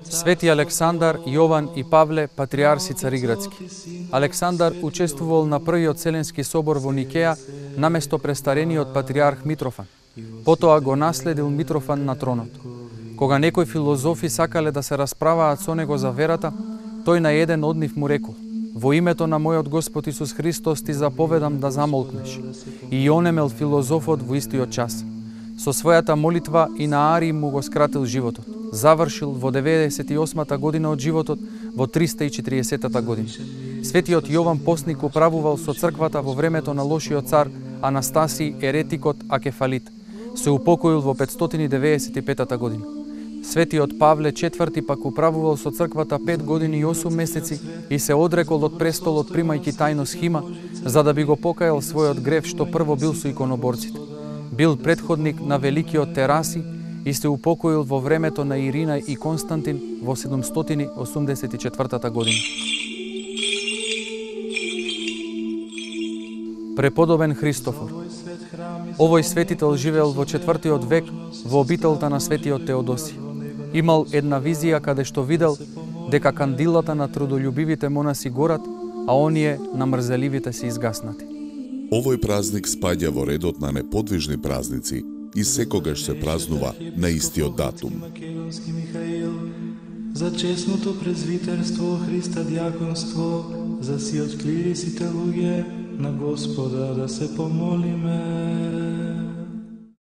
Свети Александар, Јован и Павле, патриарси цариградски. Александар учествувал на првиот Вселенски собор во Никеја наместо престарениот патриарх Митрофан. Потоа го наследил Митрофан на тронот. Кога некои филозофи сакале да се расправаат со него за верата, тој на еден од нив му рекол: во името на мојот Господ Исус Христос ти заповедам да замолкнеш. И онемел филозофот во истиот час. Со својата молитва и на Арий му го скратил животот. Завршил во 98-та година од животот во 340-та година. Светиот Јован Постник управувал со црквата во времето на лошиот цар Анастасий еретикот Акефалит. Се упокоил во 595-та година. Светиот Павле IV пак управувал со црквата 5 години и 8 месеци и се одрекол од престолот примајќи тајно схима, за да би го покајал својот грев што прво бил со иконоборците. Бил предходник на великиот Тераси и се упокоил во времето на Ирина и Константин во 784 година. Преподобен Христофор. Овој светител живеел во 4 век во обителта на светиот Теодосија. Имал една визија каде што видел дека кандилата на трудолюбивите монаси горат, а оние на мрзеливите се изгаснати. Овој празник спаѓа во редот на неподвижни празници и секогаш се празнува на истиот датум. За честното презвитерство, Христа дјаконство, за сиот клирисите луѓе, на Господа да се помолиме.